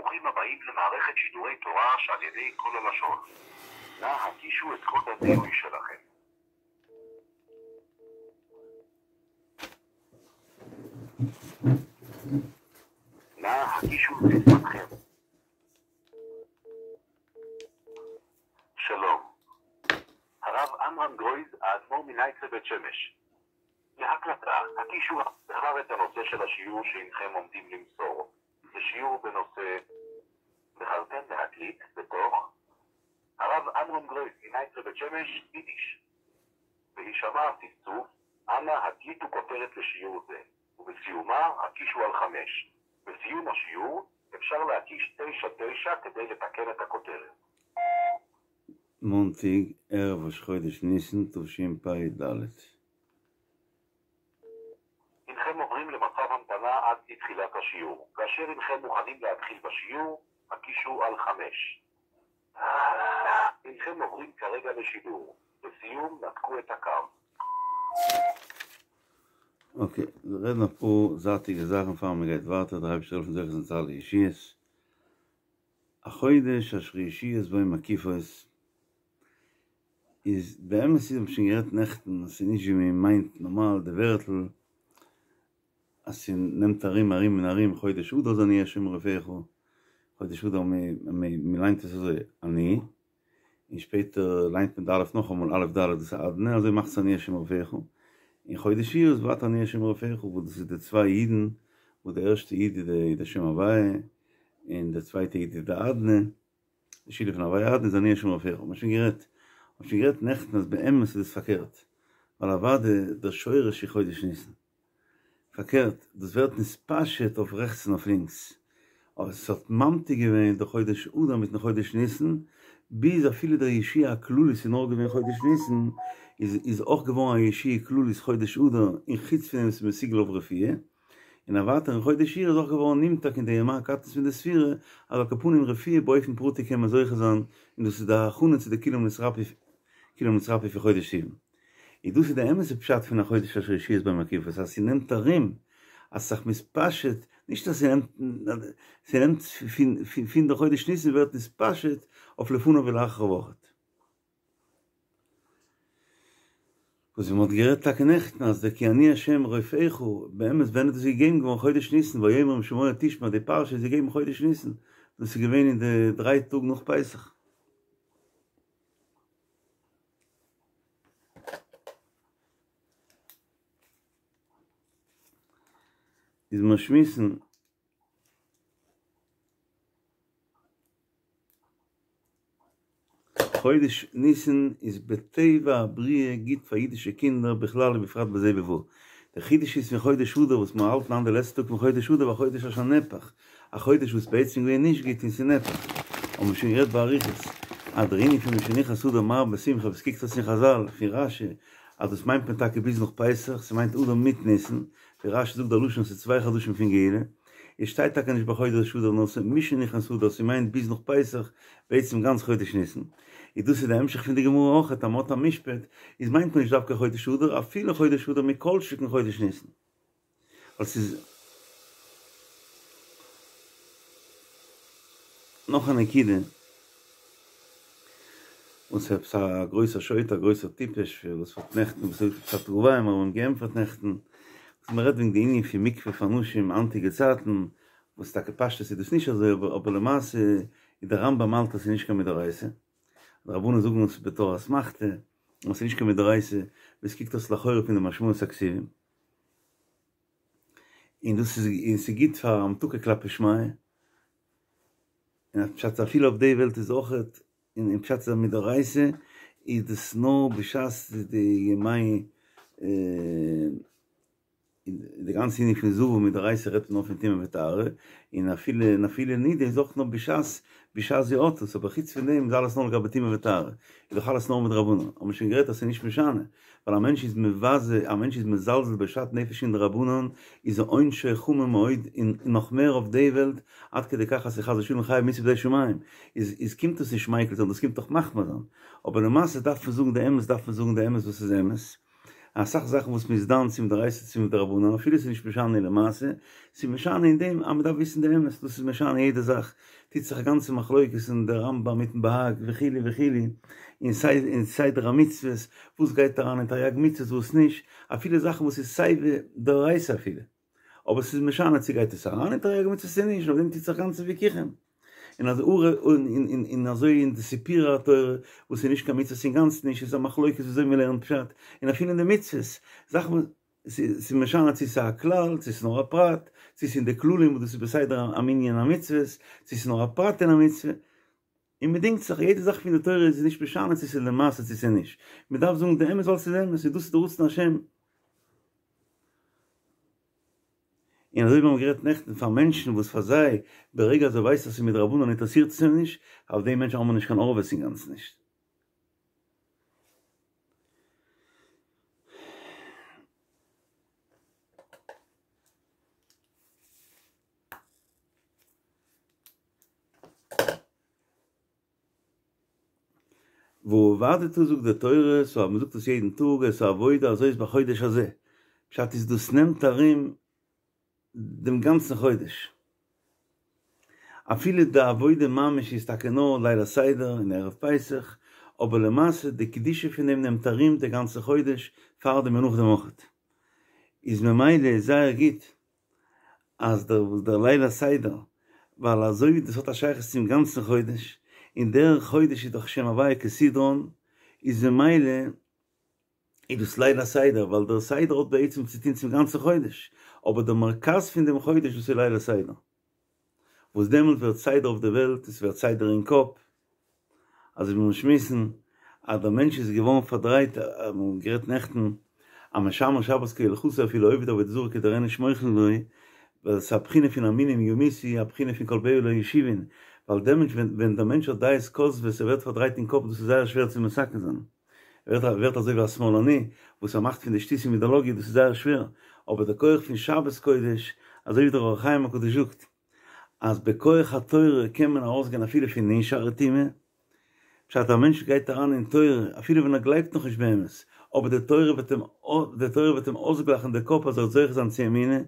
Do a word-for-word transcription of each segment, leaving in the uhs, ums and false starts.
ברוכים הבאים למערכת שידורי תורה שעל ידי כל הלשון. נא הקישו את קוד הזיהוי שלכם. נא הקישו את סיסמתכם. שלום. הרב עמרם גרויז, האדמו"ר מנייטרא בית שמש. להקלטה, הקישו בחר את הנושא של השיעור שהנכם עומדים למסור. זה שיעור בנושא בחרתם להקליט בתוך הרב עמרם גרויז מנייטרא בית שמש, יידיש. בהישמע הצפצוף, אנא הקליטו כותרת לשיעור זה, ובסיומה הקישו על חמש. בסיום השיעור אפשר להקיש תשע תשע כדי לתקן את הכותרת. מאנטאג, ערב ראש חודש ניסן, תשפ"ד. הנכם עוברים למצב המתנה עד לתחילת השיעור. כאשר הנכם מוכנים להתחיל בשיעור, הקישו על חמש. הנכם עוברים כרגע לשידור. לסיום, נתקו את הקו. אוקיי, רעדן אפאר זייטיגע זאכן פאר מען גייט ווייטער, דער אייבערשטער זאל העלפן זוכה זיין צו אלע ישועות. החודש אשר ישועות בו מקיפות איז באמת איז האב שוין גערעדט נעכטן אז ס'איז נישט ווי מען מיינט נארמאל די ווערטל אז ס'נעמט ארום ארום און ארום חודש אדר איז אני השם רופאיך חודש אדר מען ליינט עס אזוי אני און שפעטער ליינט מען די אלף נאכאמאל אלף ד' דאס איז אדני אזוי מאכט עס אני השם רופאיך און חודש אייר איז ווייטער אני השם רופאיך וואס דאס איז די צוויי יודן וואס די ערשטע יוד איז די שם הוויה און די צווייטע יוד איז די אדני די שילוב פון הוויה אדני איז אני השם רופאיך האט מען שוין גערעדט האט שוין גערעדט נעכטן אז באמת איז עס פארקערט ווייל אוודאי דער שורש איז חודש ניסן פארקערט דאס ווערט נתפשט אויף רעכטס און אויף לינקס אבער עס האט ממתיק געווען די חודש אדר מיטן חודש ניסן ביז אפילו דער ישועה הכללית איז נאר געווען חודש ניסן איז איז אויך געווארן א ישועה כללית חודש אדר און חוץ פון דעם איז מסוגל אויף רפואה און אוודאי אין חודש אייר איז אויך געווארן נמתק אין די ימ"ר קטנות פון די ספירה, אז על כל פנים רפואה באופן פרטי קען מען זוכה זיין, און דאס איז די הכנה צו די כולם נתרפאו כולם נתרפאו פון חודש סיוון. און דאס איז די אמת'ע פשט פון החודש אשר ישועות בו מקיפות, אז ס'נעמט ארום, אז ס'זיך מתפשט, נישט אז ס'נעמט, ס'נעמט פון פון די חודש ניסן ווערט נתפשט אויף לפניו ולאחריו אויכעט. וואס ווי מ'האט גערעדט טאקע נעכטן אז דער כי אני ה' רופאיך, באמת ווען איז דאס געגעבן געווארן חודש ניסן, ויאמר אם שמוע תשמע די פרשה איז געגעבן חודש ניסן, דאס איז געווען אין די דריי טאג נאך פסח. איז מיר שמועסן. חודש ניסן איז בטבע הבריאה גוט פאר אידישע קינדער בכלל ובפרט בזה ובבא. דער חידוש איז פון חודש אדר וואס מיר האלטן היינט די לעצטע טאג פון חודש אדר והחודש אשר נהפך, א חודש וואס בעצם געווען נישט גוט און ס'איז נהפך. האבן מיר שוין גערעדט באריכות אז דער ענין פון משנכנס אדר מרבין בשמחה וואס קוקט אויס אין חזל פון רשי אז דאס מיינט מען טאקע ביז נאך פסח, ס'מיינט אדר מיט ניסן, ווי רשי זאגט דער לשון ס'איז צוויי חדשים פון גאולה. עס שטייט טאקע נישט בחודש אדר נאר ס'איז משנכנס אדר ס'מיינט ביז נאך פסח, בעצם גאנץ חודש ניסן. איז דאס איז די המשך פון די גמרא אויכעט אז מ'האט א משפט איז מיינט מען נישט דווקא חודש אדר אפילו חודש אדר מכל שכן חודש ניסן. ווייל ס'איז נאך א נקודה. וואס עפעס א גרויסער שוטה א גרויסער טיפש וואס האט נעכטן וואס האט געזאגט עפעס א תגובה און מיר האבן אים געענטפערט נעכטן וואס מען רעדט וועגן די ענין פון מקווה פאר נשים היינטיגע צייטן וואס טאקע פשטות איז דאס נישט אזוי אבער אבער למעשה איז די רמב"ם האלט אז ס'איז נישט קיין מדאורייתא די רבנן זאגן עס בתור אסמכתא אבער ס'איז נישט קיין מדאורייתא ווי עס קוקט אויס לכאורה פון די משמעות הכתובים און דאס איז און ס'איז גוט פאר המתקה כלפי שמיא און פשט אפילו אויף די וועלט איז אויכעט און אין פשט איז א מדאורייתא איז דאס נאר בשעת די ימי די גאנצע ענין פון זבה מדאורייתא רעדט מען נאר פון טומאה וטהרה און אפילו און אפילו נידה איז אויך נאר בשעת בשעת זי האט עס אבער חוץ פון דעם איז אלעס נאר לגבי טומאה וטהרה איז דאך אלעס נאר מדרבנן האבן מיר שוין גערעדט אז ס'איז נישט משנה ווייל א מענטש איז מבזה, א מענטש איז מזלזל בשאט נפש אין דרבנן, איז עונשו חמור מאוד, און נאך מער אויף די וועלט, עד כדי כך אז ס'איז חס ושלום חייב מיתה בידי שמים, איז איז קומט עס נישט מיקל זיין, דאס קומט דאך מחמיר זיין, אבער למעשה דארף מען זאגן די אמת דארף מען זאגן די אמת וואס איז אמת, אסאך זאכן וואס מ'איז דן צו מדאורייתא צו מדרבנן, אפילו ס'איז נישט משנה למעשה, ס'איז משנה אין דעם אז מ'דארף וויסן די אמת, דאס איז משנה יעדע זאך, טוט זיך א גאנצע מחלוקת אין די רמב"ם מיטן בה"ג וכו' וכו', אין אין סדר המצוות, וואס גייט אריין אין תרי"ג מצוות וואס נישט, אפילו זאכן וואס איז סייווי דאורייתא אפילו, אבער ס'איז משנה צו גייט עס אריין אין תרי"ג מצוות צו נישט, אויף דעם טוט זיך גאנצע וויכוחים. און אז און אזוי אין די סיפורי התורה וואס איז נישט קיין מצוות אינגאנצן נישט איז א מחלוקת וויאזוי מען לערנט פשט, און אפילו אין די מצוות זאכן וואס ס'איז משנה צו ס'איז א כלל צו ס'איז נאר א פרט, צו ס'איז אין די כללים וואס דאס איז בסדר המנין המצוות, צו ס'איז נאר א פרט אין א מצוה, און מ'דינגט זיך, יעדע זאך פון די תורה איז נישט משנה צו ס'איז למעשה צו ס'איז נישט, מ'דארף זאגן די אמת ווייל ס'איז אמת און דאס איז די רצון השם. און אזוי ווי מיר האבן גערעדט נעכטן פאר מענטשן וואס פאר זיי ברגע אז ער ווייסט אז ס'איז מדרבנן אינטערעסירט עס אים נישט, אויף די מענטשן האבן מיר נישט קיין ערבות אינגאנצן נישט. ועבדת זאגט די תורה, סאו אז מ'זאגט עס יעדן טאג, את העבודה הזאת בחודש הזה, פשט איז דאס נעמט ארום דעם גאנצן חודש, אפילו די עבודה ממש איז טאקע נאר ליל הסדר און ערב פסח, אבער למעשה די קדושה פון דעם נעמט ארום די גאנצע חודש, פארדעם און נאכדעם אויכעט, איז ממילא איז זייער גוט אז דער דער ליל הסדר, ווייל אזוי ווי דאס האט א שייכות צום גאנצן חודש, און דער חודש איז דאך שם הוויה כסדרן, איז ממילא איז דאס ליל הסדר, ווייל דער סדר האט בעצם צו טון צום גאנצן חודש, אבער דער מרכז פון דעם חודש דאס איז ליל הסדר, וואס דעמאלט ווערט סדר אויף די וועלט, עס ווערט סדר אין קאפ, אזוי ווי מיר שמועסן אז דער מענטש איז געווארן פארדרייט, מיר האבן גערעדט נעכטן אז משמר שבת כהלכתו אפילו עובד עבודה זרה כדער איניש מוחל לו, ווייל עס איז א בחינה פון המינים ימותו, א בחינה פון כל באיה לא ישובון, ווייל דעמאלטס ווען דער מענטש האט דעות כוזבות, ער ווערט פארדרייט אין קאפ, דאס איז זייער שווער צו מתקן זיין, ער ווערט אזוי ווי א שמאלני וואס ער מאכט פון די שטותים אידעלאגיע, דאס איז זייער שווער, אבער דער כח פון שבת קודש, אזוי ווי דער אור החיים הקדוש זאגט, אז בכח התורה קען מען ארויסגיין אפילו פון נ' שערי טומאה, פשט א מענטש גייט אריין אין תורה אפילו ווען ער גלייבט נאכנישט באמת, אבער די תורה וועט אים די תורה וועט אים אויסגלייכן די קאפ אז ער וועט זוכה זיין צו אמונה,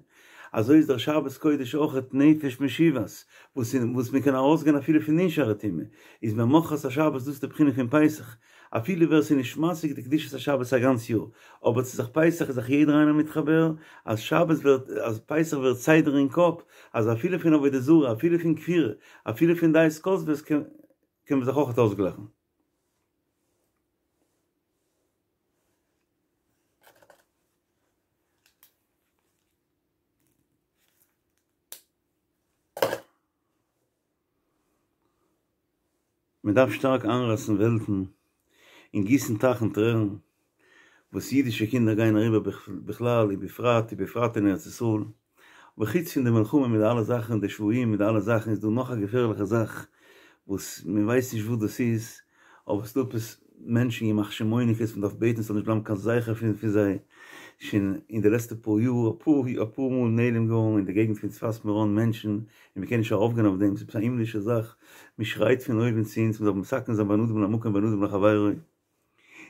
אזוי איז דער שבת קודש אויכעט נפש משיבת, וואס וואס מען קען ארויסגיין אפילו פון נ' שערי טומאה, איז ממחרת השבת דאס איז די בחינה פון פסח, אפילו ווער ס'איז נישט משיג די קדושת השבת א גאנץ יאר, אבער צו זיך פסח איז זיך יעדער איינער מתחבר, אז שבת ווערט, אז פסח ווערט סדר אין קאפ, אז אפילו פון עבודה זרה, אפילו פון כפירה, אפילו פון דעות כוזבות קען מען זיך אויכעט אויסגלייכן. מען דארף שטארק איינרייסן וועלטן און גיסן טייכן טרערן וואס אידישע קינדער גייען אריבער בכלל ובפרט ובפרט אין ארץ ישראל, אבער חוץ פון די מלחמה מיט די אלע זאכן די שבויים מיט די אלע זאכן איז דא נאך א געפערליכע זאך וואס מען ווייסט נישט וואס דאס איז, אבער ס'דא עפעס מענטשן ימח שמו'ניקעס מען דארף בעטן ס'זאל נישט בלייבן קיין זכר פון פון זיי, שוין אין די לעצטע פאר יאר אפאר אפאר מאל נעלם געווארן אין די געגנט פון צפת מירון מענטשן, און מען קען נישט ארויפגיין אויף דעם, ס'איז עפעס א הימלישע זאך, מען שרייט פון אויבן צו אונז מען זאל מתקן זיין בין אדם למקום בין אדם לחבירו, און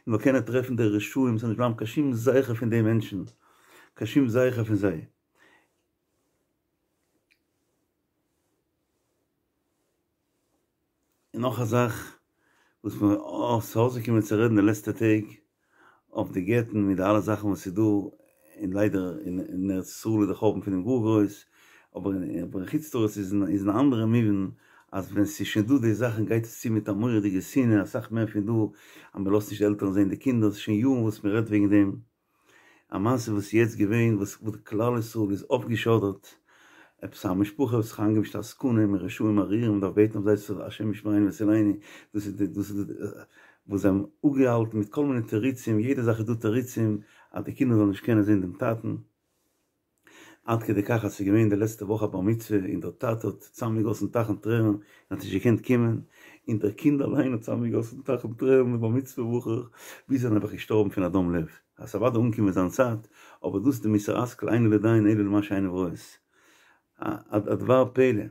מ'זאל קענען טרעפן די רשעים ס'זאל נישט בלייבן קיין שום זכר פון די מענטשן, קיין שום זכר פון זיי. און נאך א זאך וואס מיר ס'איז אויסגעקומען צו רעדן די לעצטע טעג אויף די גט'ן מיט די אלע זאכן וואס איז דא, און ליידער אין ארץ ישראל איז די חורבן פון דעם גאר גרויס, אבער אין חוץ לארץ איז אין א אנדערע מובן אז ווען ס'איז שוין דא די זאכן גייט עס צו מיט א מורא'דיגע שנאה אסאך מער פון דא, אז מ'לאזט נישט די עלטערן זען די קינדער, ס'איז שוין יארן וואס מ'רעדט וועגן דעם. א מעשה וואס איז יעצט געווען וואס כלל ישראל איז אויפגעשוידערט, עפעס א משפחה וואס האט זיך איינגעמישט עסקנים און רשעים ארורים מ'דארף בעטן אויף זיי השם ישמרינו ויצילנו, דאס איז די דאס איז די וואס זיי האבן אפגעהאלטן מיט כל מיני תירוצים, יעדע זאך איז דא תירוצים אז די קינדער זאלן נישט קענען זען דעם טאטן. עד כדי כך אז ס'איז געווען די לעצטע וואך א בר מצוה און דער טאטע האט צוזאמגעגאסן טייכן טרערן און האט נישט געקענט קומען, און דער קינד אליין האט צוזאמגעגאסן טייכן טרערן די בר מצוה בחור, ביז ער איז נעבעך געשטארבן פון א דום לב. אז ס'איז אוודאי אנגעקומען זיין צייט, אבער דאס איז די מוסר השכל אינו לדיין אלא למה שעיניו רואות. א דבר פלא.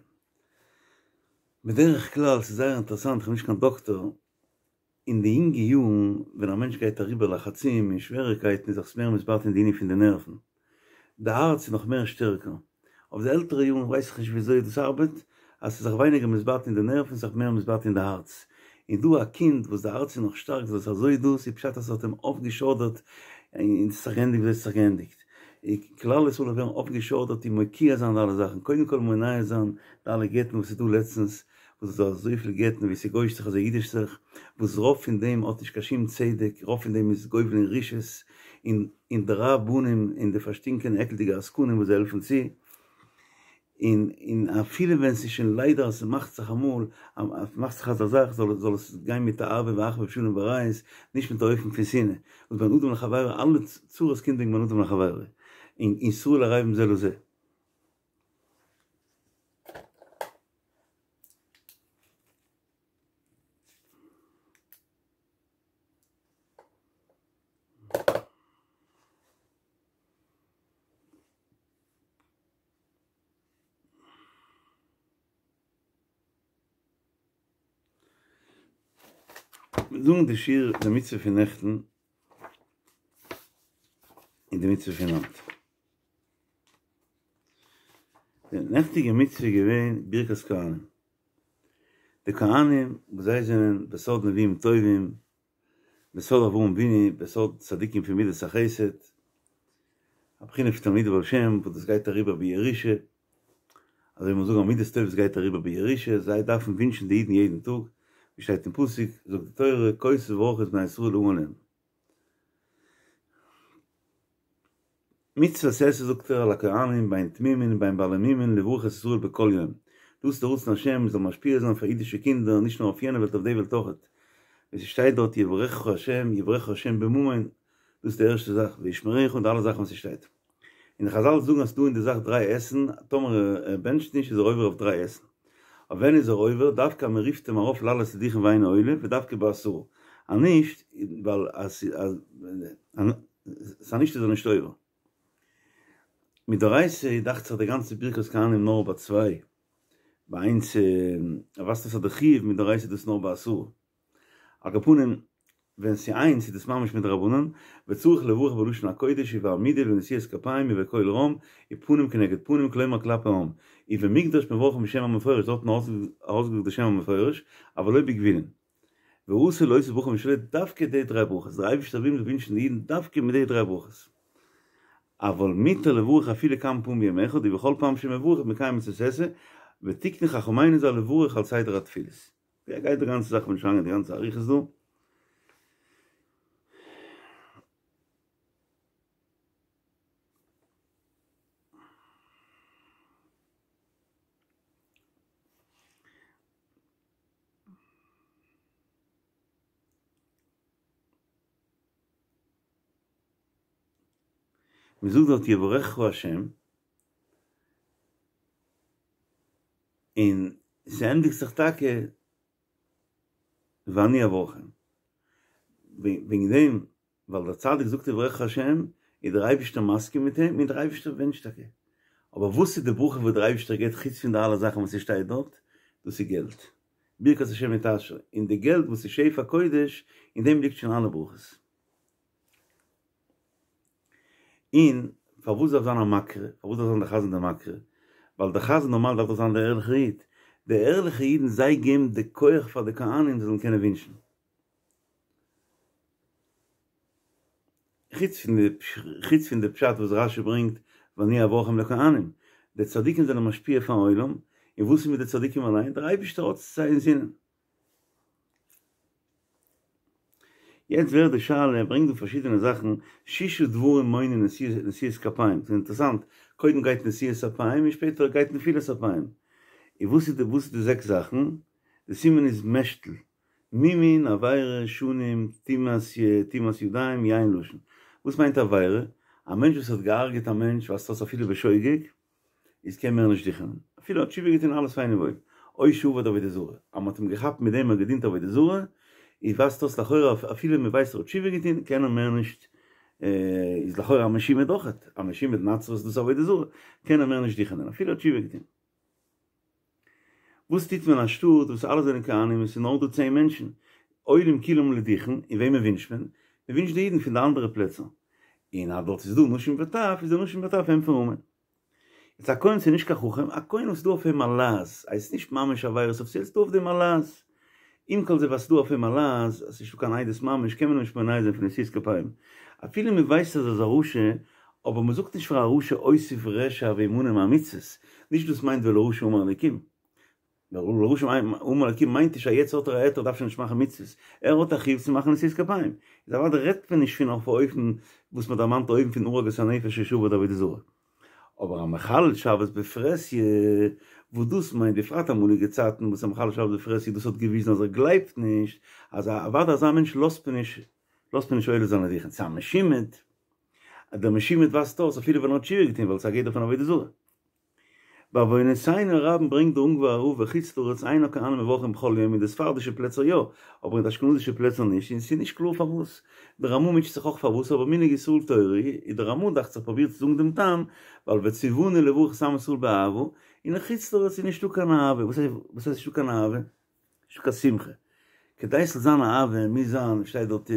בדרך כלל, ס'איז זייער אינטערעסאנט, כ'בין נישט קיין דאקטאר, אין די יונגע יארן ווען א מענטש גייט אריבער לחצים און שוועריקייטן איז זיך מער מתבטל אין די ענין פון די נערוון. די הארץ איז נאך מער שטערקער. אויף די עלטערע יארן ווייס איך נישט וויאזוי דאס ארבעט, אז ס'איז זיך ווייניגער מתבטל אין די נערוון ס'איז זיך מער מתבטל אין די הארץ. און דא א קינד וואס די הארץ איז נאך שטארק זאל עס אזוי דאס איז פשט אז ס'האט אים אויפגעשוידערט און ס'איז זיך געענדיגט וויאזוי ס'איז זיך געענדיגט. כלל ישראל זאל ווערן אויפגעשוידערט און מוקיע זיין די אלע זאכן. קודם כל מונע זיין די אלע גט'ן וואס איז דא לעצטנס, וואס איז דא אזויפיל גט'ן ווי ס'גוי'אישט זיך אזוי אידישט זיך, וואס רוב פון דעם האט נישט קיין שום צדק, רוב פון דעם איז גובל אין רשעות, און און די רבנים און די פארשטינקענע עקלדיגע עסקנים וואס זיי העלפן צו, און און אפילו ווען ס'איז שוין ליידער אז ס'מאכט זיך אמאל, אז ס'מאכט זיך אזא זאך, זאל זאל עס גיין מיט אהבה ואחווה ושלום ורעות, נישט מיט א אופן פון שנאה, וואס בין אדם לחבירו, אלע צרות קומט וועגן בין אדם לחבירו, און ישראל ערבים זה לזה. מיר זאגן די שיעור די מצוה פון נעכטן און די מצוה פון היינט. די נעכטיגע מצוה איז געווען ברכת כהנים. די כהנים וואס זיי זענען בסוד נביאים טובים, בסוד אברהם אבינו, בסוד צדיקים פון מידת החסד, א בחינה פון תלמידי בעל שם וואס דאס גייט אריבער בירושה, אזוי ווי מיר זאגן אז מידות טובות גייט אריבער בירושה, זיי דארפן ווינטשן די אידן יעדן טאג, ווי שטייט אין פסוק, זאגט די תורה, כה תברכו את בני ישראל אמור להם. מצוות עשה זאגט ער על הכהנים בין תמימים ובין בעלי מומין לברך את ישראל בכל יום, דאס איז די רצון השם מ'זאל משפיע זיין פאר אידישע קינדער נישט נאר אויף יענע וועלט אויף די וועלט אויכעט, ווי ס'שטייט דארט יברכך השם יברכך השם בממון, דאס איז די ערשטע זאך וישמרך און די אלע זאכן וואס ס'שטייט. און די חזל זאגן אז ס'דא אין די זאך דריי עשין, טאמער ער בענטשט נישט איז ער עובר אויף דריי עשין. אויף ווען איז ער עובר? דווקא אז מ'רופט אים ארויף לעלות לדוכן ואינו עולה, ודווקא בעשרה. אז נישט, ווייל אז אז נישט איז ער נישט עובר. מדאורייתא דאכט זיך די גאנצע ברכת כהנים נאר ביי צוויי, ביי איינס ווייזט אויס אז די חיוב מדאורייתא איז דאס נאר ביי עשרה. על כל פנים, ווען ס'איז איינס איז דאס ממש מדרבנן, וצריך לברך בלשון הקודש ובעמידה ובנשיאת כפיים ובקול רם ופנים כנגד פנים כלומר כלפי העם, ובמקדש מברכים בשם המפורש, דארט האט מען ארויסגעזאגט די שם המפורש, אבל לא בגבולין. ואסור להוסיף ברכה משלו דווקא די דריי ברכות, דער אייבערשטער וויל מ'זאל ווינטשן די אידן דווקא מיט די דריי ברכות. אבל מותר לברך אפילו כמה פעמים ביום אחד ובכל פעם שמברך מקיים מצוות עשה, ותיקנו חכמינו ז"ל לברך על סדר התפילות. ווי גייט די גאנצע זאך כ'בין נישט אריין אין די גאנצע אריכות דא. מען זאגט דארט יברכך השם, און ס'ענדיגט זיך טאקע ואני אברכם. וועגן דעם ווייל דער צדיק זאגט יברכך השם, איז דער אייבערשטער מסכים מיט אים, און דער אייבערשטער בענטשט טאקע. אבער וואס איז די ברכה וואס דער אייבערשטער געבט חוץ פון די אלע זאכן וואס ס'שטייט דארט? דאס איז געלט. ברכת השם היא תעשיר. און די געלט וואס איז שפע קודש, אין דעם ליגט שוין אלע ברכות. און פארוואס דארף זיין א מקריא? פארוואס דארף זיין דער חזן דער מקריא? ווייל דער חזן נארמאל דארף דאך זיין דער ערליכער איד. די ערליכע אידן זיי געבן די כח פאר די כהנים זיי זאלן קענען ווינטשן. חוץ פון די חוץ פון די פשט וואס רשי ברענגט ואני אברכם לכהנים, די צדיקים זענען משפיע פארן עולם, און וואס איז מיט די צדיקים אליין? דער אייבערשטער האט זיי אינזינען. יעצט ווערט די שאלה, ער ברענגט דא פארשידענע זאכן, שישה דברים מונעין נשיאת כפיים, ס'איז אינטערעסאנט, קודם גייט נשיאת אפיים און שפעטער גייט נפילת אפיים, און וואס איז די וואס איז די זעקס זאכן? די סימן איז משתל, מומין, עבירה, שנים, טומאת ידיים, יין לשון. וואס מיינט עבירה? א מענטש וואס האט געהארגעט א מענטש, ווייזט אויס אפילו בשוגג, איז קען מער נישט דוכענען. אפילו האט תשובה געטון אלעס פיין און וואויל. או שעבד עבודה זרה. אז מ'האט אים געכאפט מיט דעם ער האט געדינט עבודה זרה, איז ווייזט אויס לכאורה אפילו מ'ווייסט ער האט תשובה געטון קען ער מער נישט, איז לכאורה א משומד אויכעט, א משומד נצרות דאס עבודה זרה, קען ער מער נישט דוכענען אפילו האט תשובה געטון. וואס טוט מען א שטאט וואס אלע זענען כהנים און ס'איז נאר דא צען מענטשן, עולים כולם לדוכן, און וועמען ווינטשט מען? מען ווינטשט די אידן פון די אנדערע פלעצער. און אז דארט איז דא נשים וטף, איז די נשים וטף ענטפערן אמן. יעצט א כהן ס'איז נישט קיין חכם, א כהן וואס איז דא אויף אים א לעז, הייסט נישט ממש עבירות אויף ס'איז דא אויף דעם א לעז. עם כל זה וואס ס'איז דא אויף אים א לעז, אז ס'איז נישטא קיין עדות ממש, קען מען אים נישט מונע זיין פון נשיאת כפיים. אפילו מען ווייסט אז ער איז א רשע, אבער מען זאגט נישט פאר א רשע אוסיף רשע והמנע מהמצוות, נישט דאס מיינט ולרשע אמר אלקים. ולרשע אמר אלקים מיינט נישט אז יעצט האט ער א היתר דארף שוין נישט מאכן מצוות, ער האט א חיוב צו מאכן נשיאת כפיים, איז אוודאי רעדט מען נישט פון אויף א אופן וואס מען דערמאנט אויבן פון הורג את הנפש שעבד עבודה זרה. אבער א מחלל שבת בפרהסיא, וואס דאס מיינט בפרט אמאליגע צייטן וואס א מחלל שבת בפרהסיא דאס האט געוויזן אז ער גלייבט נישט, אז אוודאי אזא מענטש לאזט מען נישט לאזט מען נישט עולה זיין לדוכן, צו א משומד, אז דער משומד ווייזט אויס אפילו ווען ער האט תשובה געטון ווייל עס איז א גדר פון עבודה זרה. בעוונותינו הרבים ברענגט דער אונגווארער רב בחוץ לארץ אין הכהנים מברכים בכל יום אין די ספרדישע פלעצער יא, אבער אין די אשכנזישע פלעצער נישט, און ס'איז נישט קלאר פארוואס. דער רמ"א מוטשעט זיך אויך פארוואס, אבער מנהג ישראל תורה איז דער רמ"א דאכט זיך פרובירט צו זאגן דעם טעם, ווייל וציוונו לברך את עם ישראל באהבה, און אין חוץ לארץ איז נישטא קיין אהבה, וואס הייסט נישטא קיין אהבה? נישטא קיין שמחה. כדי ס'זאל זיין אהבה מוז זיין, שטייט דארט,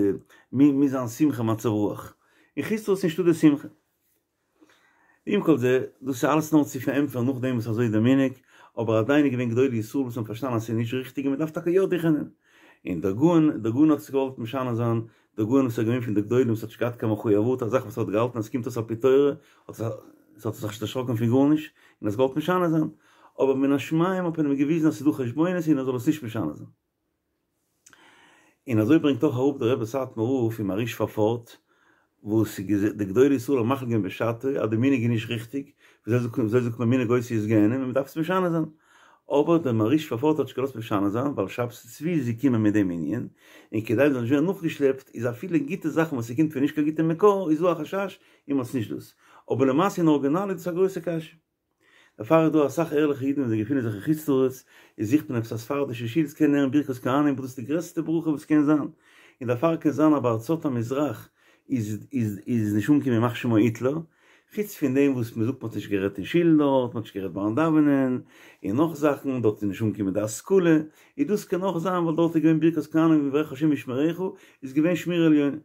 מוז זיין שמחה מצב רוח. אין חוץ לארץ איז נישטא די שמחה. עם כל זה, דאס איז אלעס נאר צו פארענטפערן נאכדעם וואס אזוי איז דער מנהג, אבער עדיין איז געווען גדולי ישראל וואס האבן פארשטאנען אז ס'איז נישט ריכטיג און מ'דארף טאקע יא דוכענען. און דער גאון, דער גאון האט עס געוואלט משנה זיין, דער גאון וואס איז געווען פון די גדולים וואס האט נישט געהאט קיין מחויבות, א זאך וואס ער האט געהאלטן אז ס'קומט אויס על פי תורה, האט ער האט זיך נישט דערשראקן פון גארנישט, און עס געוואלט משנה זיין. אבער מן השמים האט מען אים געוויזן אז ס'איז דא חשבונות און ער זאל עס נישט משנה זיין. און אזוי ברענגט אויך אראפ דער רבי סאטמאר רב פון מהרי"ש פארפארט, וואס די גדולי ישראל האבן מחליט געווען בשעתו אז די מנהג איז נישט ריכטיג, וויאזוי זאגט מען מנהג אותיות גיהנם און מען דארף עס משנה זיין, אבער דער מהרי"ש פארפארט האט נישט געלאזט משנה זיין ווייל שבתי צבי איז געקומען מיט דעם ענין, און כדי מען זאל נישט ווערן נאכגעשלעפט איז אפילו גוטע זאכן וואס ס'קומט פון נישט קיין גוטע מקור איז דא א חשש און מ'האט עס נישט דאס, אבער למעשה אין ארגינאל איז דאס א גרויסע קשיא. דערפאר איז דא אסאך ערליכע אידן ווען זיי געפינען זיך אין חוץ לארץ, איז זוכט מען עפעס א ספרדישע שול צו קענען הערן ברכת כהנים וואס דאס איז די גרעסטע ברכה וואס קען זיין, און דערפאר קען זיין אז בארצות המזרח איז איז איז נישט אנגעקומען ימח שמו היטלער, חוץ פון דעם וואס מען זאגט מען האט נישט גערעדט אין שול דארט, מען האט נישט גערעדט ביים דאווענען, און נאך זאכן, דארט איז נישט אנגעקומען די השכלה, איז דאס קען אויך זיין ווייל דארט איז געווען ברכת כהנים יברכך השם וישמרך, איז געווען שמירה עליונה.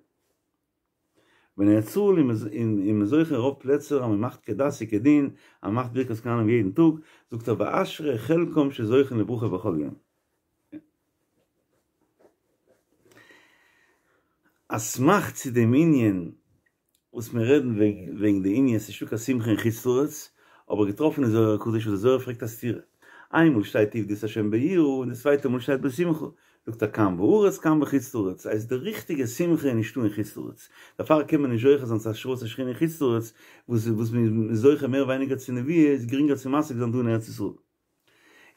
אין ארץ ישראל איז מען זוכה אין רוב פלעצער אז מען מאכט כדת וכדין, אז מען מאכט ברכת כהנים יעדן טאג, זאגט ער ואשרי חלקם שזוכים לברכה בכל יום. א סמך צו דעם ענין וואס מיר רעדן וועגן די ענין ס'איז נישטא קיין שמחה אין חוץ לארץ, האב איך געטראפן אין זוהר הקדוש וואס די זוהר פרעגט א סתירה, איינמאל שטייט עבדו את ה' ביראה און די צווייטע מאל שטייט בשמחה, זאגט ער כאן בארץ כאן בחוץ לארץ, הייסט די ריכטיגע שמחה איז נישטא אין חוץ לארץ, דערפאר קען מען נישט זוכה זיין צו השראת השכינה אין חוץ לארץ, וואס וואס מען איז זוכה מער ווייניגער צו נביאה איז גרינגער צו משיג זיין דא אין ארץ ישראל.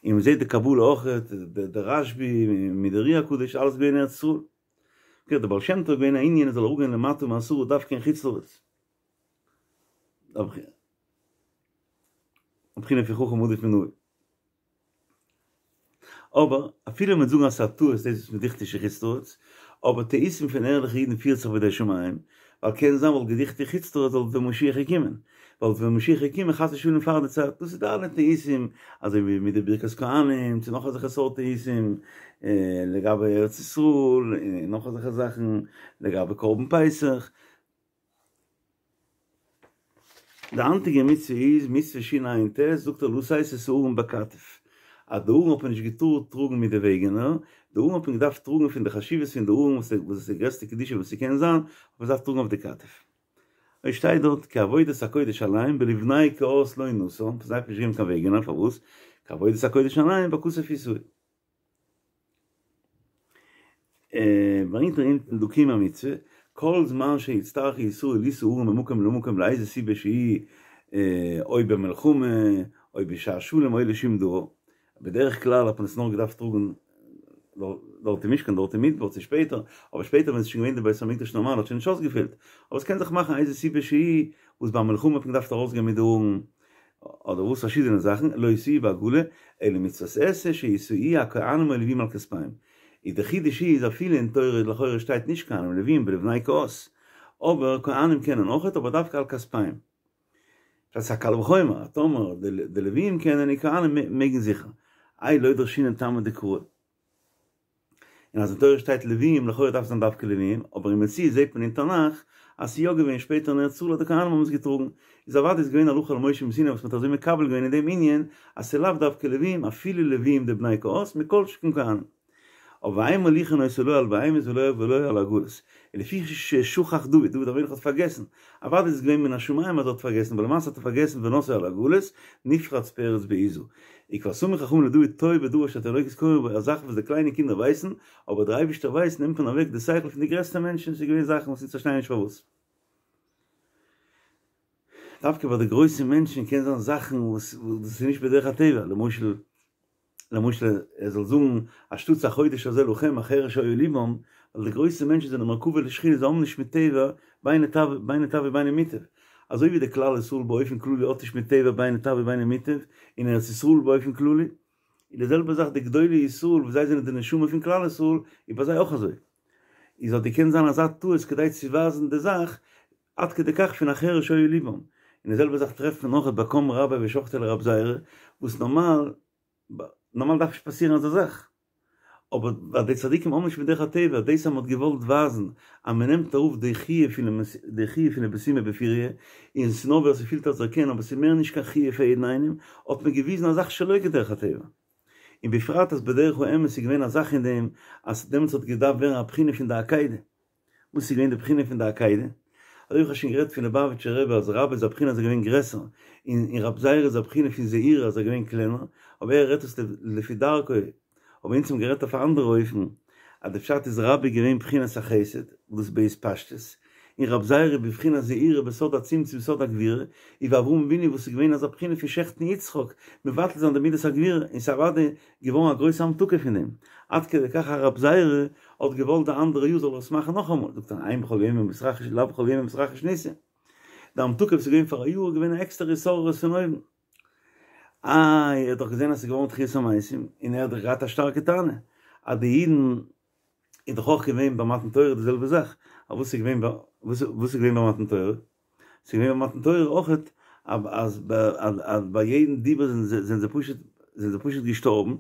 און מען זעט די קבלה אויכעט, די רשב"י מיט די אר"י הקדוש אלעס געווען אין ארץ ישראל. אקעי די בעל שם טוב איז געווען א ענין ער זאל אראפגיין למטה מעשרה דווקא אין חוץ לארץ. א בחינה פון חכם עדיף מנביא. אבער אפילו מ'וועט זאגן אז ס'איז א טעות דאס וואס מ'דוכנ'ט נישט אין חוץ לארץ, אבער טעותים פון ערליכע אידן פירט זיך בידי שמים, ווייל קען זיין וואלט געדוכנ'ט אין חוץ לארץ וואלט ווען משיח געקומען, וואלט ווען משיח געקומען חס ושלום פאר די צייט, דאס איז די אלע טעותים, אזוי ווי מיט די ברכת כהנים, צו נאך אזעלכע סארט טעותים, לגבי ארץ ישראל, און נאך אזעלכע זאכן, לגבי קרבן פסח. די היינטיגע מצוה איז מצוה שע"ט, זאגט ער לשאת את הארון בכתף, אז די ארון האט מען נישט געטארט טראגן מיט די וועגענער, די ארון האט מען געדארפט טראגן פון די חשיבות פון די ארון וואס איז די גרעסטע קדושה וואס ס'קען זיין, האט מען געדארפט טראגן אויף די כתף. אויך שטייט דארט כי עבודת הקודש עליהם ולבני קהת לא נתן, פון זיי האט מען נישט געגעבן קיין וועגענער, פארוואס? כי עבודת הקודש עליהם בכתף ישאו. ברענגט ער אונטן דא קיום המצוה, כל זמן שיצטרכו ישראל לישא ארון ממקום למקום לאיזה סיבה שהיא או במלחמה או בשעת שלום או לשום דבר, בדרך כלל האט מען עס נאר געדארפט טראגן דארט אין משכן דארט אין מדבר צו שפעטער, אבער שפעטער ווען עס איז שוין געווען די בית המקדש נארמאל האט שוין נישט אויסגעפעלט, אבער עס קען זיך מאכן איזה סיבה שהיא וואס ביי מלחמה האט מען געדארפט ארויסגיין מיט די ארון אדער וואס פארשידענע זאכן, לא ישאוהו בעגלה, אלא מצוות עשה שישאוהו הכהנים או הלוויים על כתפיהם. איז די חידוש איז אפילו אין תורה לכאורה שטייט נישט כהנים לוויים ולבני קהת, אבער כהנים קענען אויכעט אבער דווקא על כתפיהם. דאס איז א קל וחומר אז טאמער די לוויים קענען און כהנים מעגן זיכער. איי לא דרשינן טעמא דקרא. און אז אין תורה שטייט לוויים, לכאורה דארף עס זיין דווקא לוויים, אבער אין מציאות זעט מען אין תנך אז ס'איז יא געווען שפעטער אין ארץ ישראל אז די כהנים האבן עס געטראגן, איז אוודאי איז געווען הלכה למשה מסיני וואס מ'האט אזוי מקבל געווען אין דעם ענין אז ס'איז לאו דווקא לוויים אפילו לוויים דבני קהת מכל שכן כהנים. אבער ואין מוליכין אותו לא על בהמות ולא ולא על עגלות. ולפי ששכח דוד, דוד המלך האט פארגעסן, אוודאי איז עס געווען מן השמים אז ער האט פארגעסן, אבער למעשה האט ער פארגעסן ונשאו על עגלות, נפרץ פרץ בעזה. וכבר סמך חכמים לדוד טועה בדבר שהתינוקות קוראים בו, א זאך וואס די קליינע קינדער ווייסן, אבער דער אייבערשטער ווייסט, נעמט מען אוועק די שכל פון די גרעסטע מענטשן, ס'איז געווען זאכן וואס אונז פארשטייען נישט פארוואס. דווקא ביי די גרויסע מענטשן קען זיין זאכן וואס דאס איז נישט בדרך הטבע, למשל למשל ער זאל זאגן אנשטאטס החודש הזה לכם החרש היה לבם, ווייל די גרויסע מענטשן זענען מרכבה לשכינה זיי האבן נישט מיט טבע בין לטב בין לטב ובין למוטב, אזוי ווי די כלל ישראל באופן כללי האט נישט מיט טבע בין לטב ובין למוטב, אין ארץ ישראל באופן כללי, איז די זעלבע זאך די גדולי ישראל וואס זיי זענען די נשמה פון כלל ישראל, איז ביי זיי אויך אזוי. איז האט געקענט זיין אזא טעות כדי צו ווייזן די זאך, עד כדי כך פון החרש היה לבם. און די זעלבע זאך טרעפט מען אויך ביי קם רבה ושחטיה לרב זירא, וואס נארמאל, נארמאל דארף נישט פאסירן אזא זאך. אבער ווייל די צדיקים האבן נישט מדרך הטבע, דאס אז מען האט געוואלט ווייזן אז מען נעמט אראפ די חיוב פון די חיוב פון די בסומא בפוריא, און ס'איז נאר ווער ס'פילט אז ער קען, אבער ס'איז מער נישט קיין חיוב פאר יעדן איינעם, האט מען געוויזן א זאך שלא כדרך הטבע. און בפרט אז בדרך האמת איז געווען א זאך אין דעם אז דעמאלטס האט געדארפט ווערן א בחינה פון די עקידה. וואס איז געווען די בחינה פון די עקידה? אזוי ווי איך האב שוין גערעדט פון ליובאוויטשער רבי אז רבה איז א בחינה אז ער איז געווען גרעסער, און און רב זירא איז א בחינה פון זעירא אז ער איז געווען קלענער, אבער ער רעדט עס לפי דרכו, אבער אונז האבן גערעדט אויף א אנדערע אופן, אז די פשט איז רבה איז געווען בחינת החסד, וואס דאס בהתפשטות, און רב זירא בבחינת זעירא בסוד הצמצום סוד הגבורה, און ווי אברהם אבינו וואס איז געווען אזא בחינה פון שעכטן יצחק, מבטל זיין די מידת הגבורה, און ס'איז אוודאי געווארן א גרויסע המתקה פון דעם, עד כדי כך אז רב זירא האט געוואלט די אנדערע יאר זאל ער עס מאכן נאכאמאל, זאגט ער אין בכל יום מתרחש לאו בכל יום מתרחש ניסא, די המתקה וואס איז געווען פאר א יאר איז געווען א עקסטערע התעוררות פון אויבן. איי ער האט דאך געזען אז ס'איז געווארן תחיית המתים, און ער האט דאך געהאט א שטארקע טענה אז די אידן איז דאך אויך געווען ביי מתן תורה די זעלבע זאך, אבער וואס איז געווען ביי וואס איז געווען ביי מתן תורה? ס'איז געווען ביי מתן תורה אויך אז אז ביי יעדן דיבור זענען זיי פשוט זענען זיי פשוט געשטארבן,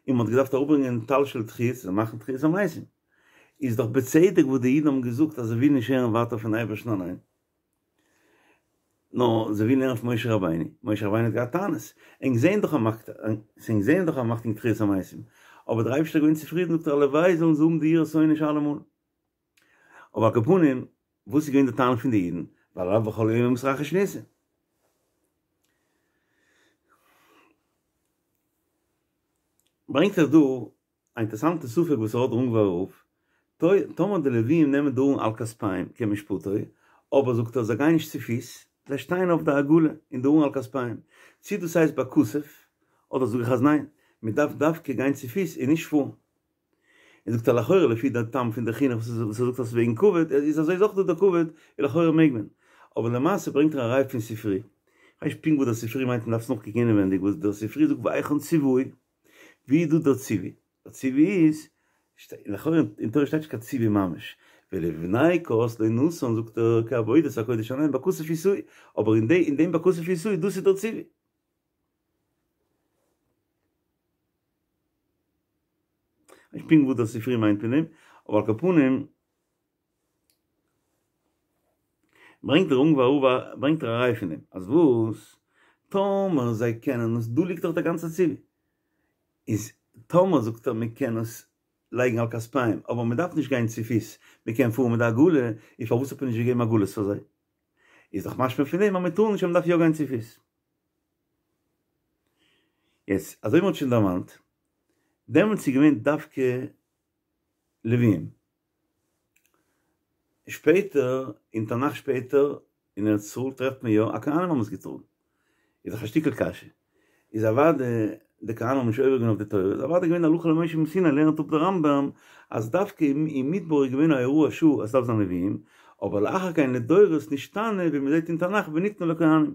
און מ'האט געדארפט אראפברענגען טל של תחי' צו מאכן תחיית המתים, איז דאך בצדק וואס די אידן האבן געזאגט אז זיי ווילן נישט הערן ווייטער פון אייבערשטן אליין. נאר זיי ווילן הערן פון משה רבינו, משה רבינו האט געהאט טענות, ענק זעהן דאך אז מ'מאכט, ענק זעהן דאך אז מ'מאכט ענק תחיית המתים, אבער דער אייבערשטער איז געווען צופרידן, זאגט ער הלוואי זאלן זיי האבן די יראת עונש אלעמאל. אבער על כל פנים, וואס איז געווען די טענה פון די אידן, והלא בכל יום מתרחש ניסים. ברענגט ער דא א אינטערסאנטע ספק וואס ער האט דער אונגווארער רב, טאמער די לוויים נעמען די ארון על כתפיהם כמשפטו, אבער זאגט ער זיי גייען נישט צופיס, זיי שטייען אויף די עגלה און די ארון על כתפיהם, צי דאס הייסט בכתף, אדער זאג איך אז ניין, מען דארף דווקא גיין צופיס און נישט פארן. און זאגט ער לכאורה לפי די טעם פון די חינוך וואס ער זאגט אז וועגן כבוד, איז אזוי איז אויך דא די כבוד, און לכאורה מעג מען. אבער למעשה ברענגט ער א ראיה פון ספרי, כ'ווייס נישט פונקט וואס דער ספרי מיינט מען דארף עס נאכקוקן אינעווענדיג וואס דער ספרי זאגט והיכן ציווי, ווי איז דא דער ציווי? דער ציווי איז, לכאורה אין תורה שטייט נישט קיין ציווי ממש, ולבני קהת לא נתן זאגט ער כי עבודת הקודש עליהם בכתף ישאוהו, אבער אין אין דעם בכתף ישאוהו דאס איז דער ציווי. נישט פונקט וואס דער ספרי מיינט פון דעם, אבער על כל פנים ברענגט דער אונגוואר רב ברענגט ער א ראי' פון דעם, אז וואס? טאמער זיי קענען עס, דא ליגט דאך דער גאנצער ציווי, איז טאמער זאגט ער מען קען עס לייגן על כתפיהם, אבער מען דארף נישט גיין צופיס, מען קען פארן מיט די עגלה, איז פארוואס האט מען נישט געגעבן עגלות פאר זיי? איז דאך משמע פון דעם אז מען טאר נישט אז מען דארף יא גיין צופיס. יעצט, אזוי ווי מען האט שוין דערמאנט, דעמאלטס איז געווען דווקא לוויים. שפעטער, אין תנך שפעטער, אין ארץ ישראל טרעפט מען יא אז כהנים האבן עס געטראגן. איז דאך א שטיקל קשיא. איז אוודאי די כהנים האבן נישט עובר געווען אויף די תורה, איז אוודאי געווען הלכה למשה מסיני לערנט אפ די רמב"ם אז דווקא אין מדבר איז געווען א הוראת שעה אז ס'דארף זיין לוויים, אבער לאחר כן לדורות נשתנה ווי מ'זעט אין תנך וניתנו לכהנים.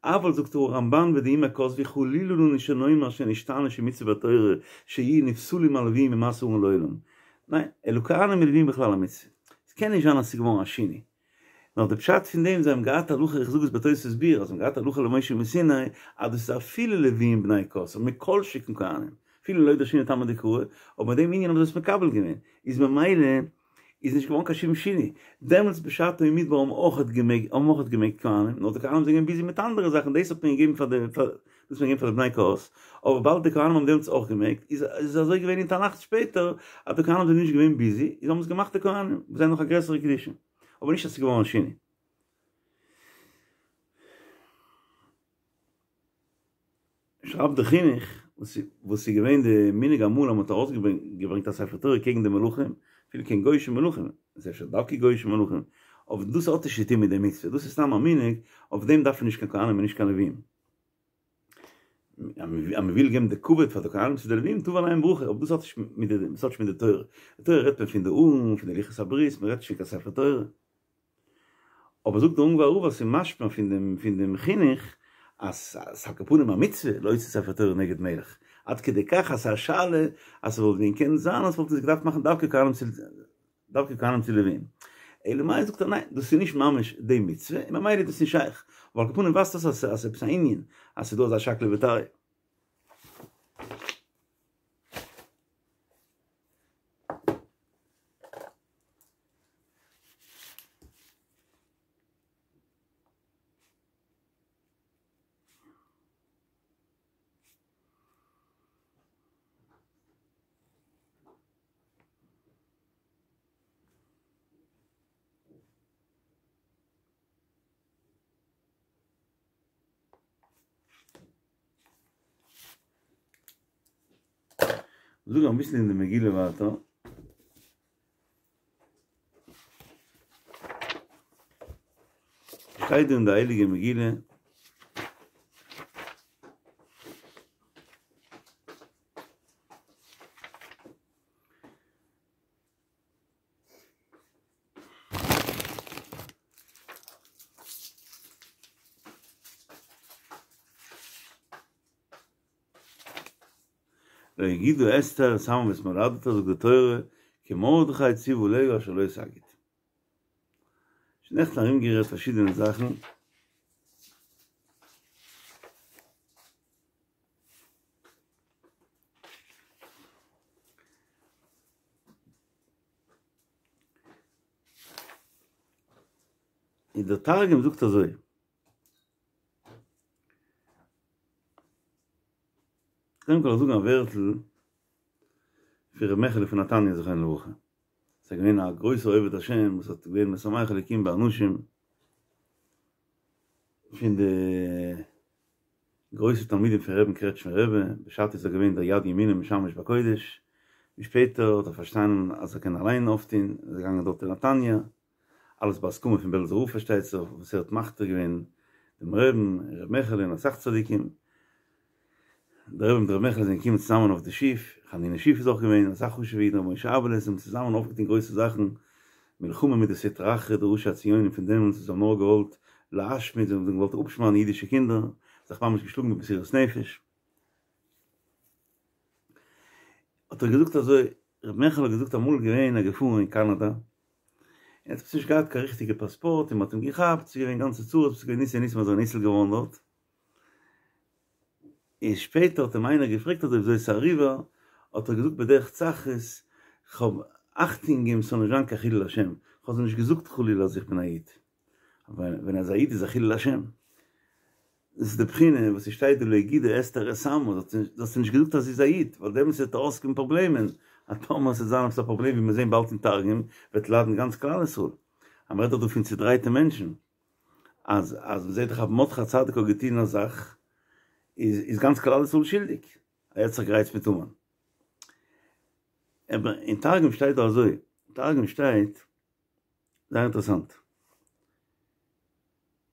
אבל זאגט הרמב"ן ודאימא כתבו חלילה לנו שנאמר שנשתנה שמצוה בתורה שיהיו נפסלים הלוויים ממשא ארון לעולם. ניין, אלא כהנים ולוויים בכלל המצוה. ס'קען נישט זיין אז ס'איז געווארן א שינוי. נאר די פשט פון דעם זיי האבן געהאט הלכה איך זאג עס בתוספות ביאור אז זיי האבן געהאט הלכה למשה מסיני אז דאס איז אפילו לוויים בני קהת מכל שכן כהנים. אפילו לא דרשינן טעמא דקרא, אבער מיט דעם ענין האבן זיי עס מקבל געווען, איז ממילא איז נישט געווארן קיין שום שינוי, דעמאלטס בשעתו אין מדבר האבן אויכעט געמעגט האבן אויכעט געמעגט כהנים, נאר די כהנים זענען געווען ביזי מיט אנדערע זאכן, דאס האט מען געגעבן פאר די פאר דאס האט מען געגעבן פאר די בני קהת, אבער וויבאלד די כהנים האבן דעמאלטס אויך געמעגט, איז איז אזוי געווען אין תנך שפעטער אז די כהנים זענען נישט געווען ביזי, איז האבן עס געמאכט די כהנים, וואס זענען נאך א גרעסערע קדושה, אבער נישט אז ס'איז געווארן א שינוי. שרייבט די חינוך, וואס איז געווען די מנהג אמאל אז מען האט ארויסגעברענגט א ספר תורה קעגן די מלכים, אפילו קעגן גוי'אישע מלכים, איז אפשר דווקא גוי'אישע מלכים, אבער דאס האט נישט צו טון מיט די מצוה, דאס איז סתם א מנהג, אויף דעם דארף מען נישט קיין כהנים און נישט קיין לווים. אז מען וויל געבן די כבוד פאר די כהנים צו די לווים, תבוא עליהם ברכה, אבער דאס האט נישט מיט די, דאס האט נישט מיט די תורה. די תורה רעדט מען פון די ארון, פון די לוחות הברית, מען רעדט נישט פון קיין ספר תורה. אבער זאגט דער אונגוואר רב אז ס'איז משמע פון דעם פון דעם חינוך אז ס'איז על כל פנים א מצוה להוציא ספר תורה נגד מלך, עד כדי כך אז ס'איז א שאלה אז ס'וואלט ווען קענען זיין אז ס'וואלט עס געדארפט מאכן דווקא כהנים צו דווקא כהנים צו לווים. אלא מאי זאגט ער ניין דאס איז נישט ממש די מצוה און ממילא איז דאס נישט שייך, אבער על כל פנים ווייזט אויס אז ס'איז עפעס א ענין אז ס'איז דא אזא שקלא וטריא. זאג אביסל אין די מגילה ווייטער. שטייט דא אין די הייליגע מגילה. לא הגידה אסתר את עמה ואת מולדתה זאגט די תורה כי מרדכי ציוה עליה אשר לא תגיד. שוין נעכטן ארומגערעדט פארשידענע זאכן. און דער תרגום זאגט אזוי. קודם כל זאגן א ווערטל פון ר' מעכעלע פון נתניה זכרונו לברכה, ס'איז געווען א גרויסער עובד השם וואס האט געווען משמח אלוקים באנשים, פון די גרויסע תלמידים פון רבי'ן קרעטשמער רבי, בשעתו איז ער געווען דער יד ימינו משמש בקודש, ווי שפעטער האט ער פארשטאנען אז ער קען אליין אויפטון, איז ער געגאנגען דארט אין נתניה, אלעס בהסכמה פון בעלזער רב פארשטייט זיך, וואס ער האט מכתיר געווען דעם רבי'ן, ר' מעכעלע און אסאך צדיקים, דער רבי מיט ר' מעכעלע זענען געקומען צוזאמען אויף די שיף, חנינא שיף איז אויך געווען, אסאך חשוב'ע אידן, ר' משה אבעלעס, זיי האבן צוזאמען אויפגעטון גרויסע זאכן, מלחמה מיט די סטרא אחרא די ראשי הציונים פון דעמאלטס וואס האבן נאר געוואלט להשמיד, זיי האבן געוואלט אפשמד'ן אידישע קינדער, זיך ממש געשלאגן במסירות נפש. האט ער געזאגט אזוי, ר' מעכעלע האט געזאגט אמאל געווען ער געפארן אין קאנאדא, ער האט עפעס נישט געהאט קיין ריכטיגע פאספארט און מען האט אים געכאפט, ס'איז געווען גאנצע צרות, ס'איז געווען ניסי ניסים אז ער איז ניצול געווארן דארט, און שפעטער האט אים איינער געפרעגט אזוי וויאזוי ס'איז אריבער, האט ער געזאגט בדרך צחות, כ'האב אכטונג געגעבן ס'זאל נישט זיין קיין חילול השם, כ'האב זיי נישט געזאגט חלילה אז איך בין א איד, ווייל ווען ער איז א איד איז א חילול השם. דאס איז די בחינה וואס ס'שטייט דא לא הגידה אסתר את עמה, זי האט נישט געזאגט אז זי איז א איד, ווייל דעמאלטס וועט ארויסקומען פראבלעמען, אז טאמער ס'וועט זיין עפעס א פראבלעם ווי מיר זעהן באלד אין תרגום, וועט ליידן גאנץ כלל ישראל. אז מ'רעדט דאך דא פון צודרייטע מענטשן, אז אז מ'זעהט דאך אז מרדכי הצדיק האט געטון א זאך, איז איז גאנץ כלל ישראל שולדיג, ער האט זיך גערייצט מיט המן. אבער אין תרגום שטייט דא אזוי, אין תרגום שטייט, זייער אינטערעסאנט.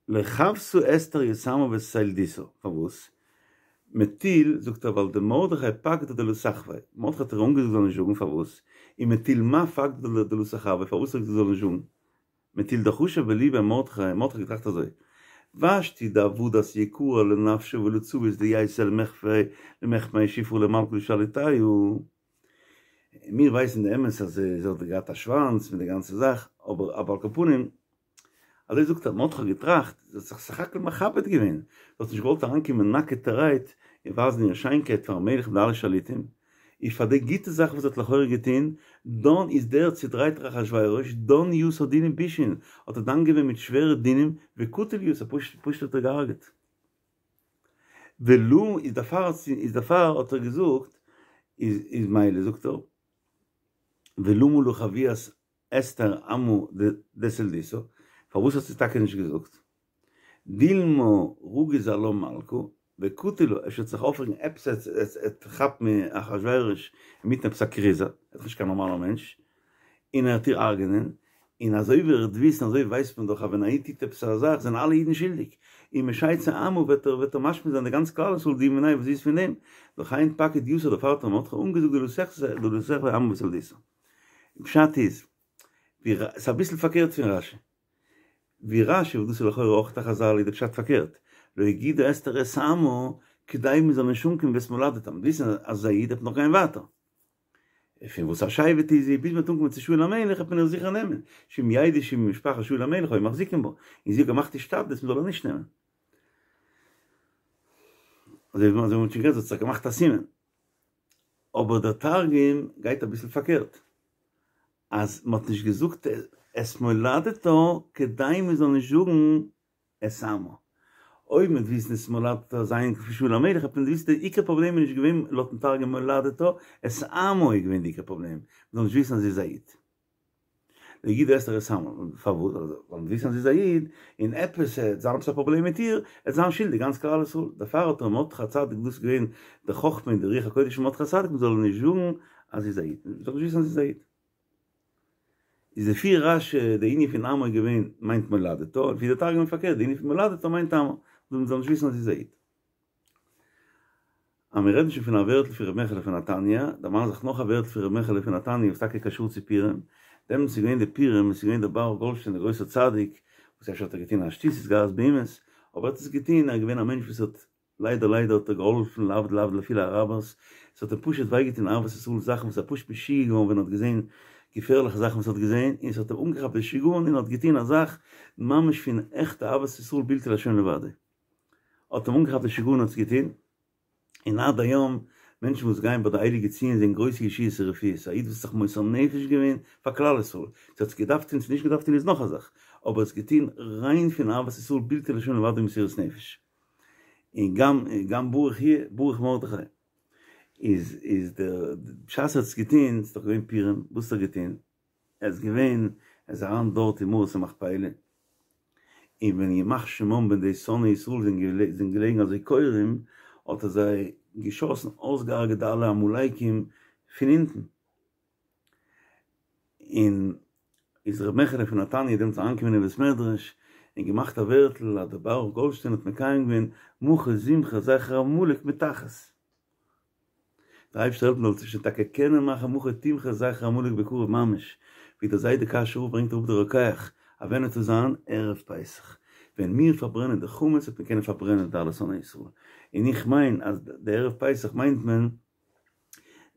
לא חותה אסתר ית עמה ואת ילדותה, פארוואס? מטול, זאגט ער ווייל דמרדכי פקדה דלא תחוי, מרדכי האט איר אנגעזאגט זי זאל נישט זאגן, פארוואס? ומטול מה פקדה דלא תחוי, פארוואס זאגט זי זאל נישט זאגן? מטול דחשיב בליביה מרדכי, מרדכי האט געטראכט אזוי, ושתי דעבדת יקרא לנפשה ולצבית דייתי למחמי שפרא למלכא לשליטיא, מיר ווייסן די אמת אז זי האט געהאט א שוואנץ מיט די גאנצע זאך, אבער אבער על כל פנים, אזוי זאגט ער, מרדכי האט געטראכט, זי האט זיך סך הכל מכבד געווען, זי האט נישט געוואלט אריינקומען נאקעטערהייט און ווייזן איר שיינקייט פארן מלך מיט אלע שליטים, איז פאר די גוטע זאך וואס זי האט לכאורה געטון, דאן איז דער צודרייטער אחשורוש דן יתה דינים בישין, האט ער דן געווען מיט שווערע דינים, וקטיל יתה, פשוט האט ער געהארגעט. ולא איז דערפאר איז דערפאר האט ער געזאגט איז איז מילא זאגט ער ולמה לא חביאת אסתר עמה דסילדתא פארוואס האט זי טאקע נישט געזאגט דילמא רגיז עלה מלכא וקטיל לה אפשר וועט זיך אויפרעגן עפעס עט כאפן אחשורוש אינמיטן עפעס א קריזע ער איז דאך נישט קיין נארמאלער מענטש און ער וועט איר הרג'נען, און אזוי ווי ער וועט וויסן אזוי ווייסט מען דאך אז ווען א איד טוט עפעס א זאך זענען אלע אידן שולדיג, און משייצא עמה וועט ער וועט ער משמיד זיין די גאנץ כלל ישראל די מיניה וואס זי איז פון דעם, לכן פקיד יתה דערפאר האט מרדכי אנגעזאגט דלא תחזי דלא תחוי עמה בסילדותא. פשט איז, ווי ר ס'איז אביסל פארקערט פון רשי. ווי רשי וואס דאס איז לכאורה אויך א חזל איז די פשט פארקערט, לא הגידה אסתר את עמה כדי מ'זאל נישט אנקומען ואת מולדתה, מ'וועט וויסן אז זי איז א איד וועט מען נאך גיין ווייטער. פון וואס א שבט איז זי, ביז מ'וועט אנקומען צו שאול המלך וועט מען איר זיכער נעמען, שאם ידעו שהיא ממשפחת שאול המלך היו מחזיקים בה, און זי האט געמאכט השתדלות מ'זאל איר נישט נעמען. אזוי ווי מ'האט שוין גערעדט, זי האט זיך געמאכט א סימן. אבער דער תרגום גייט אביסל פארקערט, אז מ'האט נישט געזאגט את מולדתה כדי מ'זאל נישט זאגן את עמה. אויב מ'וועט וויסן את מולדתה זיין פון שאול המלך האט מען געוויסט די עיקר פראבלעם איז נישט געווען לויטן תרגום מולדתה, את עמה איז געווען די עיקר פראבלעם, מ'זאל נישט וויסן אז זי איז א איד. לא הגידה אסתר את עמה, פארוואס? ווייל מ'וועט וויסן אז זי איז א איד, און עפעס עט זיין עפעס א פראבלעם מיט איר, עט זיין שולדיג גאנץ כלל ישראל. דערפאר האט ר' מרדכי הצדיק דאס איז געווען די חכמה און די רוח הקודש פון מרדכי הצדיק מ'זאל נישט זאגן אז זי איז א איד, מ'זאל נישט וויסן אז זי איז א איד. איז לפי רשי די ענין פון עמה איז געווען מיינט מולדתה, לפי די תרגום פארקערט די ענין פון מולדתה מיינט עמה, מען זאל נישט וויסן אז זי איז א איד. אז מיר רעדן שוין פון א ווערטל פון ר' מעכעלע פון נתניה, דערמאן זיך נאך א ווערטל פון ר' מעכעלע פון נתניה וואס טאקע קשור צו פורים, דעמאלטס איז געווען די פורים, עס איז געווען דער ברוך גאלדשטיין דער גרויסער צדיק, וואס אפשר האט ער געטון א שטות התגרות באומות, אבער ער האט עס געטון, ער איז געווען א מענטש וואס האט ליידער ליידער האט ער געהאלפן להבדיל להבדיל אפילו אראבערס, עס האט אים פשוט וויי געטון אהבת ישראל זאכן וואס ער פשוט משוגע געווארן ווען ער האט געזען געפערליכע זאכן וואס ער האט געזען, און עס האט אים אנגעכאפט די שגעון און ער האט געטון א זאך ממש פון עכטע אהבת ישראל בלתי להשם לבדו האט אים אנגעכאפט די שגעון און האט עס געטון, און עד היום מענטשן וואס גייען ביי די הייליגע ציון זעען גרויסע ישועות און רפואות, א איד וואס האט זיך מוסר נפש געווען פאר כלל ישראל, צו האט עס געדארפט טון צו נישט געדארפט טון איז נאך א זאך, אבער עס געטון ריין פון אהבת ישראל בלתי להשם לבדו מסירות נפש. און גם גם ברוך יהיה ברוך מרדכי איז איז דער בשעת ער האט עס געטון ס'איז דאך געווען פורים וואס האט ער געטון ער איז געווען ער איז אריין דארט אין מערת המכפילה און ווען ימח שמם ווען די שונאי ישראל זענען געלעגן אזוי כורעים האט ער זיי געשאסן אויסגעהארגעט די אלע עמלקים פון אונטן. און איז ר' מעכעלע פון נתניה דעמאלטס אריינגעקומען אין בית מדרש און געמאכט א ווערטל אז דער ברוך גאלדשטיין האט מקיים געווען מחה תמחה זכר עמלק מתחת. דער אייבערשטער העלפן זאלסטו שוין טאקע קענען מאכן מחה תמחה זכר עמלק בקרוב ממש, ווי דער זיידע קאשוי רב ברענגט אראפ דער רוקח אז ווען עט עס זיין ערב פסח ווען מיר פארברענען די חמץ וועט מען קענען פארברענען די אלע שונאי ישראל, און איך מיין אז די ערב פסח מיינט מען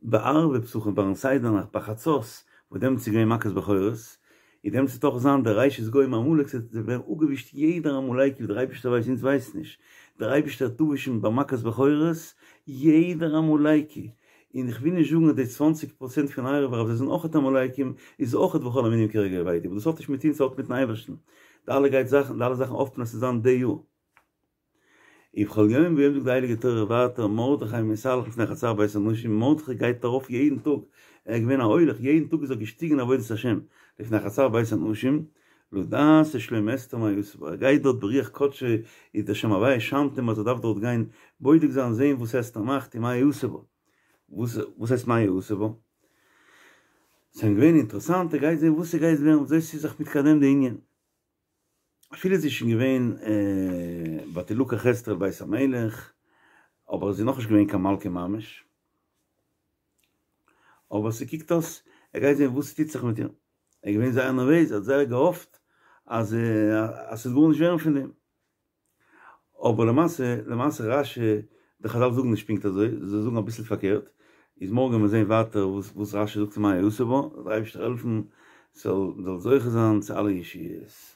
בערבי פסחים ביים סדר נאכט ביי חצות וואס דעמאלטס איז געווען מכת בכורות, און דעמאלטס וועט אויך זיין דער ראשית גוים עמלק ס'וועט ווערן אפגעווישט יעדער עמלקי ווי דער אייבערשטער ווייסט אונז ווייסט נישט, דער אייבערשטער וועט אפווישן ביי מכת בכורות יעדער עמלקי, און איך וויל נישט זאגן אז די צוואנציג פראצענט פון ערב רב זיי זענען אויכעט עמלקים איז אויכעט וכל המינים כרגע אבדו, אבער דאס האט נישט מיט אונז ס'האט מיטן אייבערשטן, די אלע גייט זאכן די אלע זאכן האפט מען אז ס'זאל זיין די יאר. ובכל יום ויום זאגט די הייליגע תורה ווייטער מרדכי מתהלך לפני חצר בית האנשים, מרדכי גייט ארויף יעדן טאג, ער איז געווען א הולך, יעדן טאג איז ער געשטיגן אין עבודת השם, לפני חצר בית האנשים, לדעת את שלום אסתר מה יעשה בה, ער גייט דארט ברוח קדשו, איז דער שם הוויה שיינט אים אז ער דארף דארט גיין בודק זיין זען וואס אסתר מאכט און מה יעשה בה, וואס הייסט מה יעשה בה? ס'איז אים געווען אינטערעסאנט, ער גייט זען וואס ס'גייט ווערן, וויאזוי ס'איז זיך מתקדם די ענין. אפילו זי איז שוין געווען ותלקח אסתר אל בית המלך, אבער זי איז נאכנישט געווען קיין מלכה ממש, אבער ס'קוקט אויס ער גייט זען וואס ס'טוט זיך מיט איר, ער איז געווען זייער נערוועז, ער האט זייער געהאפט אז אז ס'וועט גארנישט ווערן פון דעם, אבער למעשה למעשה רש"י, די חז"ל זאגן נישט פונקט אזוי, זיי זאגן אביסל פארקערט, איז מארגן וועלן מיר זען ווייטער וואס וואס רש"י זאגט צו מה יעשה בה, זאל דער אייבערשטער העלפן ס'זאל מ'זאל זוכה זיין צו אלע ישועות.